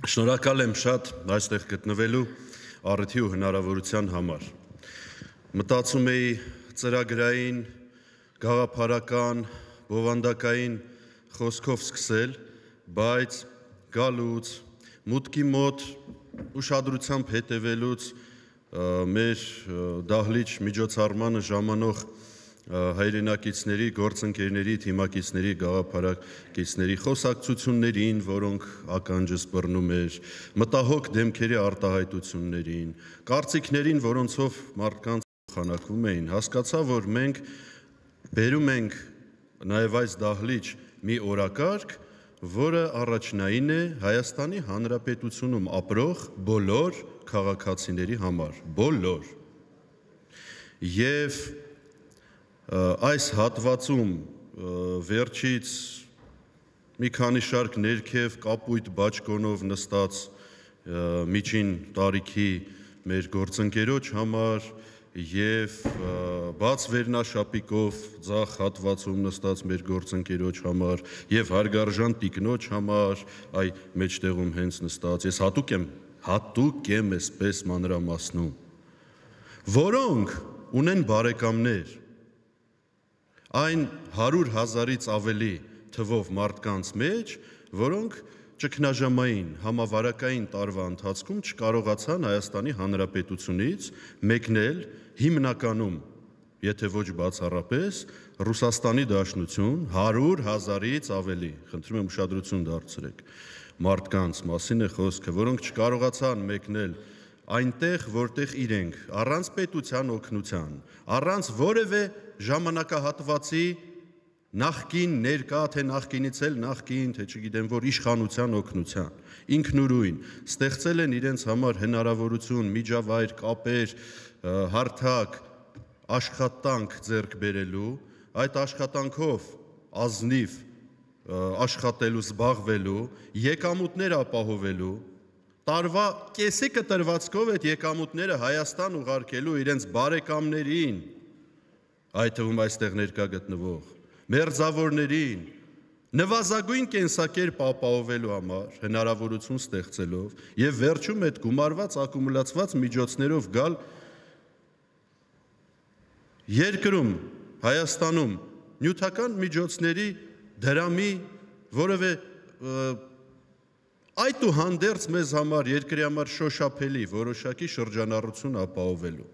Շնորհակալ եմ շատ այստեղ գտնվելու առիթի ու հնարավորության համար։ Մտածում էի ծրագրային, գաղափարական, բովանդակային խոսքով սկսել, բայց գալուց, մուտքի մոտ ուշադրությամբ հետևելուց մեր դահլիճ միջոցառմանը ժամանող հայրենակիցների, գործընկերների, թիմակիցների, գաղափարակիցների խոսակցություններին, որոնք ականջս բռնում էր, մտահոգ դեմքերի արտահայտություններին, կարծիքներին, որոնցով մարդկանց փոխանակվում էին, հասկացա, որ մենք բերում ենք նաև այս դահլիճ մի օրակարգ, որը առաջնային է Հայաստանի Հանրապետությունում ապրող բոլոր քաղաքացիների համար, բոլոր։ Եվ այս հատվածում վերջից մի քանի շարք ներքև կապույտ բաճկոնով նստած միջին տարիքի մեր գործընկերոջ համար և բաց վերնաշապիկով ձախ հատվածում նստած մեր գործընկերոջ համար և հարգարժան տիկնոջ համար, այ մեջտեղում հենց նստած, ես հատուկ եմ այսպես մանրամասնում, որոնք ունեն բարեկամներ, այն 100,000-ից ավելի թվով մարդկանց մեջ, որոնք ճգնաժամային համավարակային տարվա ընթացքում չկարողացան Հայաստանի Հանրապետությունից մեկնել հիմնականում, եթե ոչ բացառապես, Ռուսաստանի Դաշնություն 100,000-ից ավելի, խնդրում եմ ուշադրություն դարձրեք, մարդկանց մասին է խոսքը, որոնք չկարողացան մեկնել այնտեղ, որտեղ իրենք առանց պետության օգնության, առանց որևէ ժամանակահատվածի նախկին, ներկա, թե նախկինից էլ նախկին, թե չգիտեմ որ իշխանության օգնության, ինքնուրույն ստեղծել են իրենց համար հնարավորություն, միջավայր, կապեր, հարթակ, աշխատանք ձեռք բերելու, այդ աշխատանքով ազնիվ աշխատելու, զբաղվելու, եկամուտներ ապահովելու, տարվա կեսի կտրվածքով այդ եկամուտները Հայաստան ուղարկելու իրենց բարեկամներին, այդ թվում այստեղ ներկա գտնվող, մերձավորներին, նվազագույն կենսակերպ ապահովելու համար հնարավորություն ստեղծելով և վերջում այդ գումարված ակումուլացված միջոցներով գալ երկրում, Հայաստանում նյութական միջոցների դրամի որևէ այդուհանդերձ մեզ համար, երկրի համար շոշափելի որոշակի շրջանառություն ապահովելու։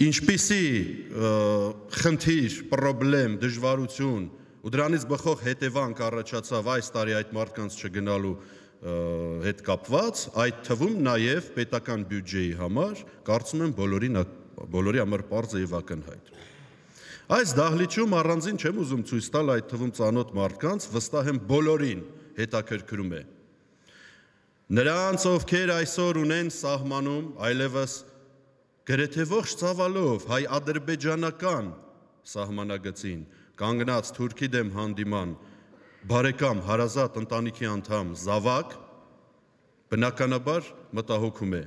Ինչպիսի խնդիր, պրոբլեմ, դժվարություն ու դրանից բխող հետևանք առաջացավ այս տարի այդ մարդկանց չգնալու հետ կապված, այդ թվում նաև պետական բյուջեի համար, կարծում եմ բոլորի համար պարզ է և ակնհայտ։ Այս դահլիճում առանձին չեմ ուզում ցույց տալ այդ թվում ծանոթ մարդկանց, վստահ եմ բոլորին հետաքրքրում է։ Նրանց, ովքեր այսօր ունեն սահմանում, այլևս գրեթե ողջ ծավալով հայ-ադրբեջանական սահմանագծին կանգնած Թուրքի դեմ հանդիման բարեկամ հարազատ ընտանիքի անդամ զավակ, բնականաբար մտահոգում է։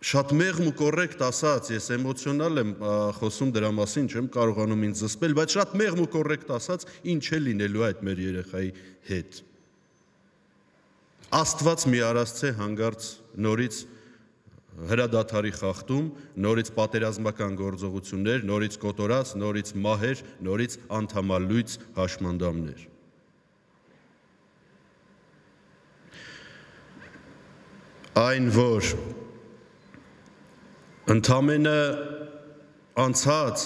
Շատ մեղմ ու կոռեկտ ասած, ես էմոցիոնալ եմ խոսում դրա մասին, չեմ կարողանում ինձ զսպել, բայց շատ մեղմ ու կոռեկտ ասած, ինչ է լինելու այդ մեր երեխայի հետ։ Աստված մի արասցե հանգարց նորից հրադադարի խախտում, նորից պատերազմական գործողություններ, նորից կոտորած, նորից մահեր, նորից անդամալույծ հաշմանդամներ։ Այն, որ ընդամենը անցած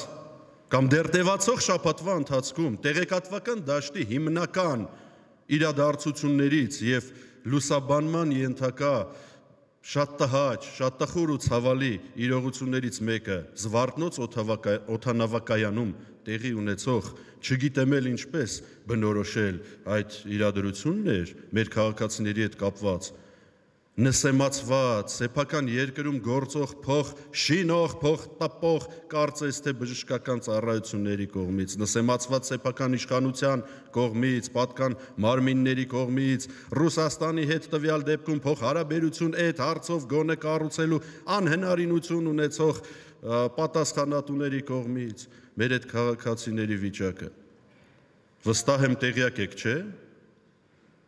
կամ դեռ տևացող շաբաթվա ընթացքում տեղեկատվական դաշտի հիմնական իրադարձություններից և լուսաբանման ենթակա շատ տհաճ, շատ տխուր ու ցավալի իրողություններից մեկը Զվարթնոց օդանավակայանում տեղի ունեցող, չգիտեմ էլ ինչպես բնորոշել այդ իրադրությունն էր մեր քաղաքացիների հետ կապված, նսեմացված, սեփական երկրում գործող փող շինող, փող տպող, կարծես թե բժշկական ծառայությունների կողմից, նսեմացված սեփական իշխանության կողմից, պատկան մարմինների կողմից, Ռուսաստանի հետ տվյալ դեպքում փոխհարաբերություն այդ հարցով գոնե կառուցելու անհնարինություն ունեցող պատասխանատուների կողմից, մեր այդ քաղաքացիների վիճակը։ Վստահ եմ տեղյակ եք, չէ՞,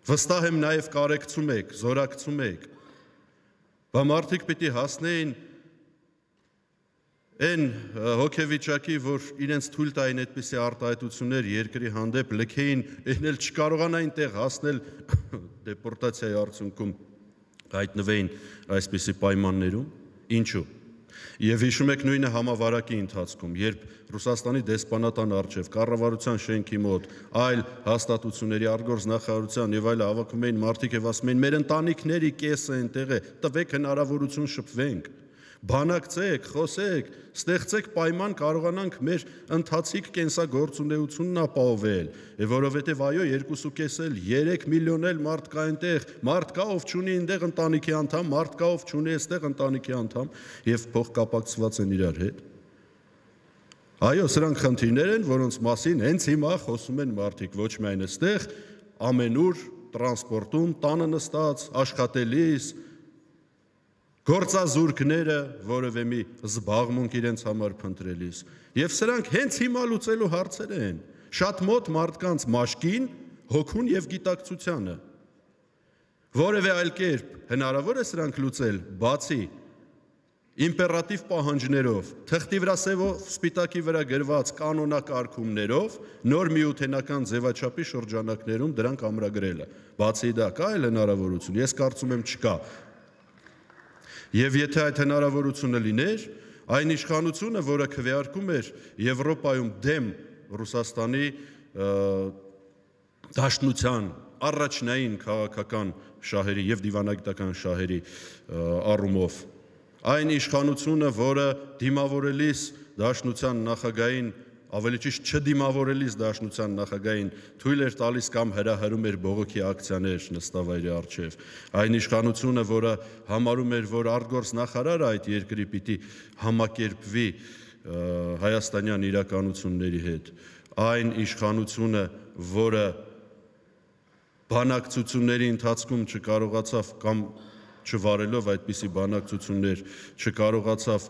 Վստահ եմ նաև կարեկցում եք, զորակցում եք, բա մարդիկ պիտի հասնեին այն հոգեվիճակի, որ իրենց թույլ տային այդպիսի արտահայտություններ երկրի հանդեպ լքեին, այն էլ չկարողանային տեղ հասնել դեպորտացիայի արդյունքում հայտնվեին այսպիսի պայմաններում, ինչու։ Եվ հիշում եք նույնը համավարակի ընթացքում, երբ Ռուսաստանի դեսպանատան առջև, կառավարության շենքի մոտ, այլ հաստատությունների արտգործնախարարության եւ այլ հավաքում էին մարդիկ եւ ասում էին մեր ընտանիքների կեսը այնտեղ է, տվեք հնարավորություն շփվենք, բանակցեք, խոսեք, ստեղծեք պայման կարողանանք մեր ընթացիկ կենսագործունեությունն ապահովել, որովհետև այո 2.5 էլ 3 միլիոն էլ մարդ կա այնտեղ, մարդ կա ով չունի այնտեղ ընտանիքի անդամ, մարդ կա ով չունի այստեղ ընտանիքի անդամ եւ փոխկապակցված են իրար հետ։ Այո, սրանք խնդիրներ են, որոնց մասին հենց հիմա խոսում են մարդիկ, ոչ միայն այստեղ, ամենուր տրանսպորտում, տանը նստած, աշխատելիս, գործազուրկները, որևէ մի զբաղմունք իրենց համար փնտրելիս։ Եվ սրանք հենց հիմա լուծելու հարցեր են, շատ մոտ մարդկանց մաշկին, հոգուն եւ գիտակցությանը։ Որևէ այլ կերպ հնարավոր է սրանք լուծել, բացի իմպերատիվ պահանջներով, թղթի վրա սևով սպիտակի վրա գրված կանոնակարգումներով, նոր միութենական ձևաչափի շրջանակներում դրանք ամրագրելը։ Բացի դա կա այլ հնարավորություն, ես կարծում եմ չկա։ Եվ եթե այդ հնարավորությունը լիներ, այն իշխանությունը, որը քվեարկում էր Եվրոպայում դեմ Ռուսաստանի դաշնության առաջնային քաղաքական շահերի եւ դիվանագիտական շահերի առումով, այն իշխանությունը, որը դիմավորելիս դաշնության նախագահին, ավելի ճիշտ չդիմավորելիս դաշնության նախագահին թույլ էր տալիս կամ հրահրում էր բողոքի ակցիաներ նստավայրի առջև, այն իշխանությունը, որը համարում էր, որ արտգործնախարարը այդ երկրի պիտի համակերպվի հայաստանյան իրականությունների հետ, այն իշխանությունը, որը բանակցությունների ընթացքում չկարողացավ կամ չվարելով այդպիսի բանակցություններ չկարողացավ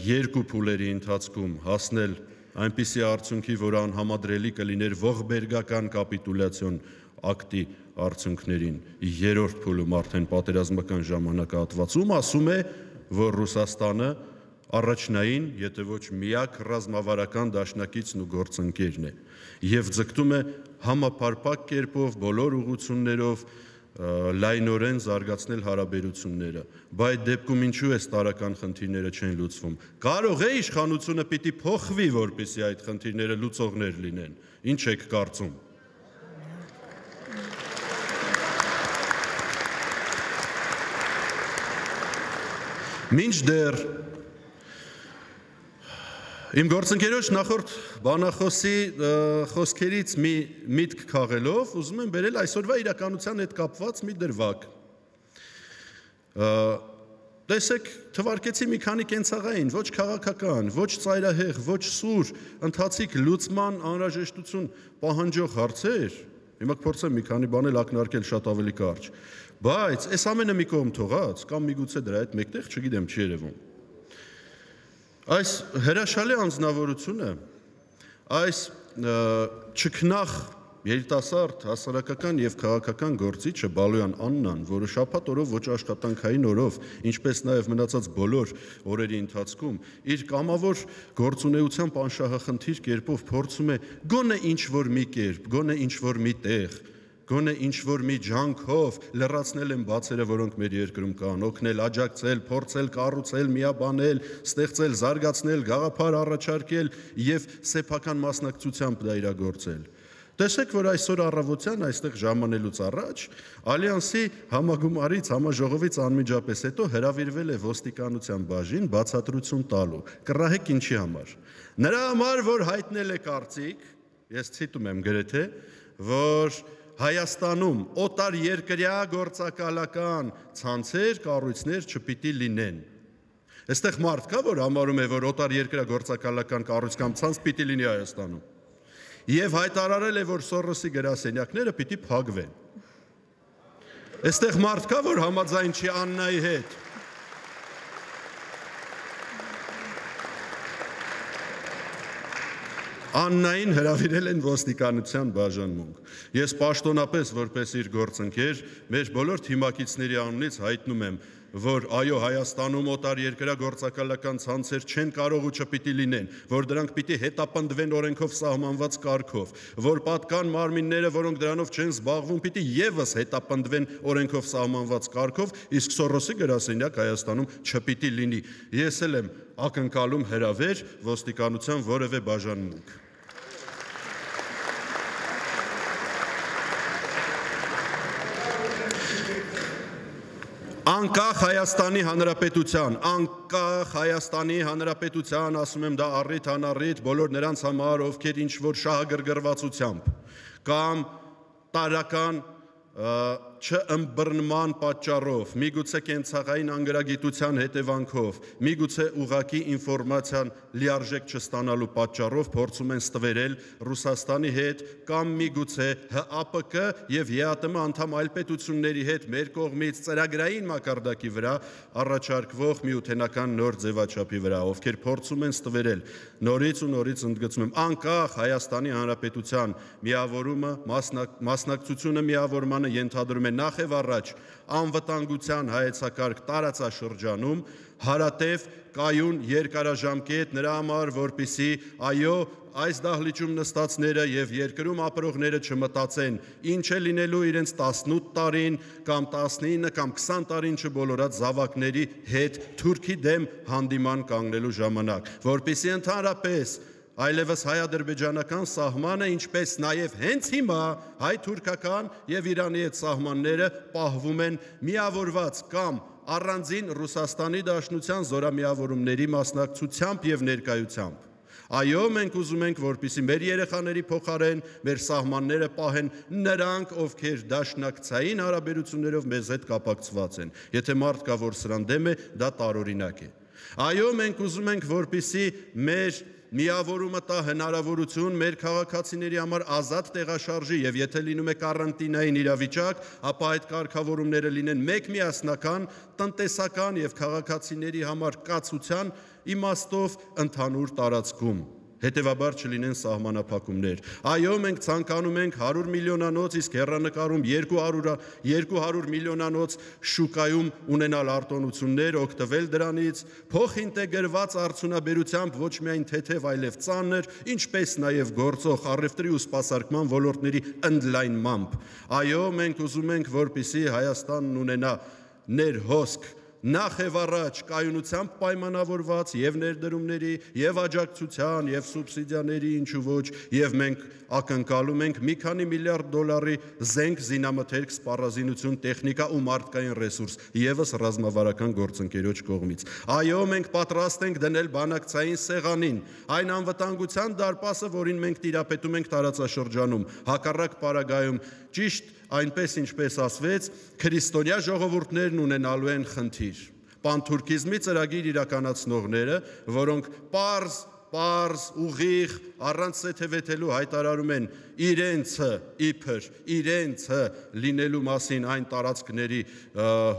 երկու փուլերի ընթացքում հասնել այնպիսի արդյունքի, որ անհամադրելի կլիներ ողբերգական կապիտուլյացիոն ակտի արդյունքներին, երրորդ փուլում արդեն պատերազմական ժամանակահատվածում ասում է, որ Ռուսաստանը առաջնային, եթե ոչ միակ ռազմավարական դաշնակիցն ու գործընկերն է եւ ձգտում է համապարփակ կերպով բոլոր ուղղություններով լայնորեն զարգացնել հարաբերությունները, բայց այդ դեպքում ինչու է տարական խնդիրները չեն լուծվում։ Կարող է իշխանությունը պիտի փոխվի, որպեսզի այդ խնդիրները լուծողներ լինեն։ Ինչ եք կարծում։ Մինչդեռ իմ գործընկերոջ նախորդ բանախոսի խոսքերից մի միտք քաղելով, ուզում եմ բերել այսօրվա իրականության հետ կապված մի դրվագ։ Տեսեք, թվարկեցի մի քանի կենցաղային, ոչ քաղաքական, ոչ ծայրահեղ, ոչ սուր, ընթացիկ լուծման անհրաժեշտություն պահանջող հարցեր, հիմա կփորձեմ մի քանի բան էլ ակնարկել շատ ավելի կարճ, բայց այս ամենը մի կողմ թողած, կամ միգուցե դրա հետ մեկտեղ, չգիտեմ, չի երևում։ Այս հրաշալի անձնավորությունը, այս չքնախ երիտասարդ հասարակական եւ քաղաքական գործիչը Բալոյան Աննան, որը շաբաթ օրով ոչ աշխատանքային օրով, ինչպես նաեւ մնացած բոլոր օրերի ընթացքում, իր կամավոր գործունեությամբ անշահախնդիր կերպով փորձում է գոնե ինչ-որ մի կերպ, գոնե ինչ-որ մի տեղ, գոնե ինչ-որ մի ջանքով լրացնել են բացերը, որոնք մեր երկրում կան, օգնել, աջակցել, փորձել, կառուցել, միաբանել, ստեղծել, զարգացնել, գաղափար առաջարկել եւ սեփական մասնակցությամբ դա իրագործել։ Տեսեք, որ այսօր առավոտյան այստեղ ժամանելուց առաջ Ալյանսի համագումարից, համաժողովից անմիջապես հետո հրավիրվել է ոստիկանության բաժին բացատրություն տալու։ Կռահեք ինչի համար։ Նրա համար, որ հայտնել է կարծիք, ես ցիտում եմ գրեթե, որ Հայաստանում օտար երկրյա գործակալական ցանցեր, կառույցներ չպիտի լինեն։ Այստեղ մարդ կա, որ համարում է, որ օտար երկրյա գործակալական կառույց կամ ցանց պիտի լինի Հայաստանում։ Եվ հայտարարել է, որ Սորոսի գրասենյակները պիտի փակվեն։ Այստեղ մարդ կա, որ համաձայն չի Աննայի հետ։ Աննային հրավիրել են ոստիկանության բաժանմունք։ Ես պաշտոնապես որպես իր գործընկեր մեր բոլոր թիմակիցների անունից հայտնում եմ, որ այո, Հայաստանում օտար երկրագործակալական ցանցեր չեն կարող ու չպիտի լինեն, որ դրանք պիտի հետապնդվեն օրենքով սահմանված կարգով, որ պատկան մարմինները, որոնք դրանով չեն զբաղվում, պիտի եւս հետապնդվեն օրենքով սահմանված կարգով, իսկ Սորոսի գրասենյակ Հայաստանում չպիտի լինի։ Ես էլ եմ ակնկալում հրավեր ոստիկանության որևէ բաժանմունք։ Անկախ Հայաստանի Հանրապետության, ասում եմ դա առիթ անառիթ բոլոր նրանց համար, ովքեր ինչ-որ շահագրգռվածությամբ կամ տարական չըմբռնման պատճառով, միգուցե կենցաղային անգրագիտության հետևանքով, միգուցե ուղղակի ինֆորմացիան լիարժեք չստանալու պատճառով փորձում են ստվերել Ռուսաստանի հետ կամ միգուցե ՀԱՊԿ եւ ԵԱՏՄ անդամ այլ պետությունների հետ մեր կողմից ծրագրային մակարդակի վրա առաջարկվող միութենական նոր ձևաչափի վրա, ովքեր փորձում են ստվերել նորից ու նորից ընդգծում եմ, անկախ Հայաստանի Հանրապետության միավորումը, մասնակցությունը միավորմանը ենթադրում է նախ եւ առաջ անվտանգության հայեցակարգ տարածաշրջանում, հարատև կայուն երկարաժամկետ նրա համար, որպեսզի այո, այս դահլիճում նստածները եւ երկրում ապրողները չմտածեն, ինչ է լինելու իրենց 18 տարին կամ 19 կամ 20 տարին չբոլորած զավակների հետ Թուրքի դեմ հանդիման կանգնելու ժամանակ, որպեսզի ընդհանրապես այլևս հայ-ադրբեջանական սահմանը, ինչպես նաև հենց հիմա հայ-թուրքական եւ Իրանի հետ սահմանները պահվում են միավորված կամ առանձին Ռուսաստանի Դաշնության զորամիավորումների մասնակցությամբ եւ ներկայությամբ։ Այո, մենք ուզում ենք, որպեսզի մեր երեխաների փոխարեն մեր սահմանները պահեն նրանք, ովքեր դաշնակցային հարաբերություններով մեզ հետ կապակցված են։ Եթե մարդ կա, որ սրան դեմ է, դա տարօրինակ է։ Այո, մենք ուզում ենք, որպեսզի մեր միավորումը տա հնարավորություն մեր քաղաքացիների համար ազատ տեղաշարժի եւ եթե լինում է կարանտինային իրավիճակ, ապա այդ կարգավորումները լինեն մեկմիասնական, տնտեսական եւ քաղաքացիների համար կացության իմաստով ընդհանուր տարածքում։ Հետևաբար չլինեն սահմանափակումներ։ Այո, մենք ցանկանում ենք 100 միլիոնանոց, իսկ հեռանկարում 200 միլիոնանոց շուկայում ունենալ արտոնություններ, օգտվել դրանից, փոխինտեգրված արդյունաբերությամբ ոչ միայն թեթև, այլև ծանր, ինչպես նաև գործող առևտրի ու սպասարկման ոլորտների ընդլայնմամբ։ Այո, մենք ուզում ենք, որպեսզի Հայաստանն ունենա ներհոսք նախ եւ առաջ կայունությամբ պայմանավորված եւ ներդրումների, եւ աջակցության, եւ սուբսիդիաների, ինչու ոչ, եւ մենք ակնկալում ենք մի քանի միլիարդ դոլարի զենք, զինամթերք, սպառազինություն, տեխնիկա ու մարդկային ռեսուրս, եւս ռազմավարական գործընկերոջ կողմից։ Այո, մենք պատրաստ ենք դնել բանակցային սեղանին այն անվտանգության դարպասը, որին մենք տիրապետում ենք տարածաշրջանում, հակառակ պարագայում ճիշտ այնպես ինչպես ասվեց, քրիստոնյա ժողովուրդներն ունենալու են խնդիր։ Պանթուրքիզմի ծրագիր իրականացնողները, որոնք պարզ, ուղիղ, առանց սեթևեթելու հայտարարում են իրենցը իբր իրենցը լինելու մասին այն տարածքների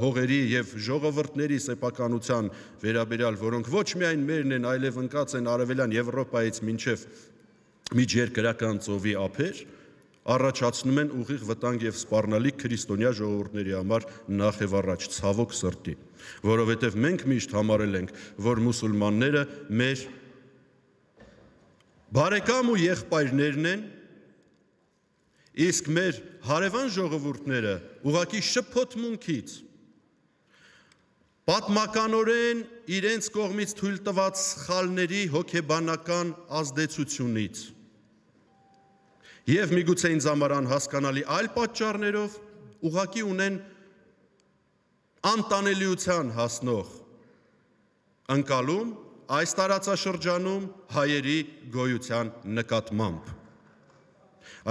հողերի եւ ժողովրդների սեփականության վերաբերյալ, որոնք ոչ միայն մերն են, այլև ընկած են արևելյան Եվրոպայից մինչև միջերկրական ծովի ափեր, առաջացնում են ուղիղ վտանգ եւ սպառնալիք քրիստոնյա ժողովուրդների համար նախ եւ առաջ ցավոք սրտի, որովհետեւ մենք միշտ համարել ենք, որ մուսուլմանները մեր բարեկամ ու եղբայրներն են, իսկ մեր հարևան ժողովուրդները ուղղակի շփոթմունքից, պատմականորեն իրենց կողմից թույլ տված սխալների հոգեբանական ազդեցությունից եւ միգուցե ինձ համար անհասկանալի այլ պատճառներով ուղղակի ունեն անտանելիության հասնող ընկալում այս տարածաշրջանում հայերի գոյության նկատմամբ։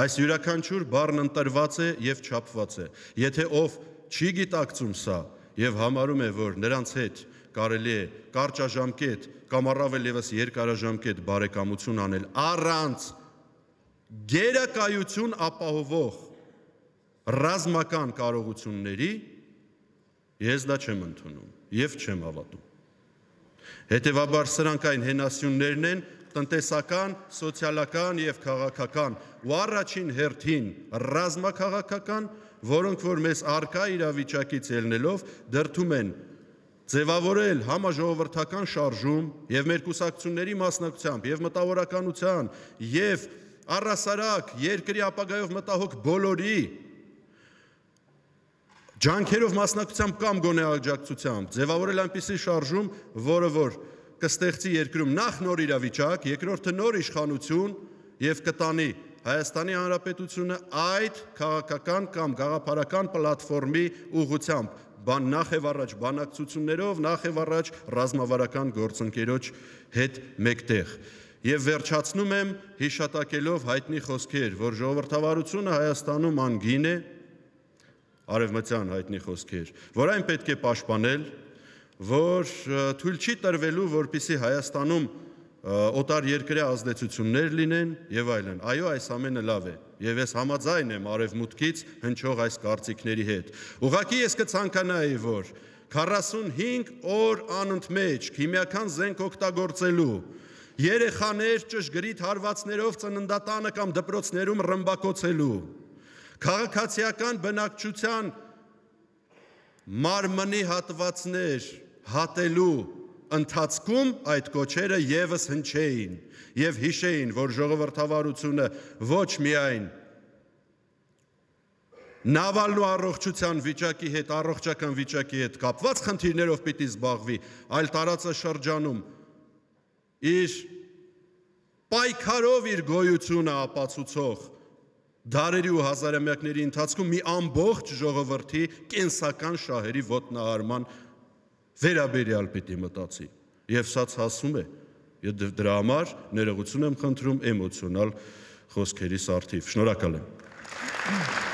Այս յուրաքանչյուր բառն ընտրված է եւ չափված է։ Եթե ով չի գիտակցում սա եւ համարում է, որ նրանց հետ կարելի է կարճաժամկետ կամ առավել եւս երկարաժամկետ բարեկամություն անել առանց գերակայություն ապահովող ռազմական կարողությունների, ես դա չեմ ընդունում եւ չեմ հավատում։ Հետևաբար սրանք այն հենասյուններն են, տնտեսական, սոցիալական եւ քաղաքական ու առաջին հերթին ռազմաքաղաքական, որոնք որ մեզ առկա իրավիճակից ելնելով դրդում են ձևավորել համաժողովրդական շարժում եւ մեր կուսակցությունների մասնակցությամբ եւ մտավորականության եւ առասարակ երկրի ապագայով մտահոգ բոլորի ջանքերով մասնակցությամբ կամ գոնե աջակցությամբ ձևավորել այնպիսի շարժում, որը որ կստեղծի երկրում նախ նոր իրավիճակ, երկրորդը նոր իշխանություն եւ կտանի Հայաստանի Հանրապետությունը այդ քաղաքական կամ գաղափարական պլատֆորմի ուղղությամբ նախ եւ առաջ բանակցություններով, նախ եւ առաջ ռազմավարական գործընկերոջ հետ մեկտեղ։ Եվ վերջացնում եմ հիշատակելով հայտնի խոսքեր, որ ժողովրդավարությունը Հայաստանում անգին է, արևմտյան հայտնի խոսքեր, որ այն պետք է պաշտպանել, որ թույլ չի տրվելու, որպեսզի Հայաստանում օտար երկրի ազդեցություններ լինեն եւ այլն։ Այո, այս ամենը լավ է եւ ես համաձայն եմ արևմուտքից հնչող այս կարծիքների հետ։ Ուղղակի ես կցանկանայի, որ 45 օր անընդմեջ քիմիական զենք օգտագործելու, երեխաներ ճշգրիտ հարվածներով ծննդատանը կամ դպրոցներում ռմբակոծելու, քաղաքացիական բնակչության մարմնի հատվածներ հատելու ընթացքում այդ կոչերը եւս հնչեին եւ հիշեին, որ ժողովրդավարությունը ոչ միայն նավալու առողջության վիճակի հետ, առողջական վիճակի հետ կապված խնդիրներով պիտի զբաղվի, այլ տարածաշրջանում իր պայքարով իր գոյությունը ապացուցող դարերի ու հազարամյակների ընթացքում մի ամբողջ ժողովրդի կենսական շահերի ոտնահարման վերաբերյալ պիտի մտածի եւ սա հասում է եւ դրա համար ներողություն եմ խնդրում էմոցիոնալ խոսքերիս առթիվ։ Շնորհակալ եմ։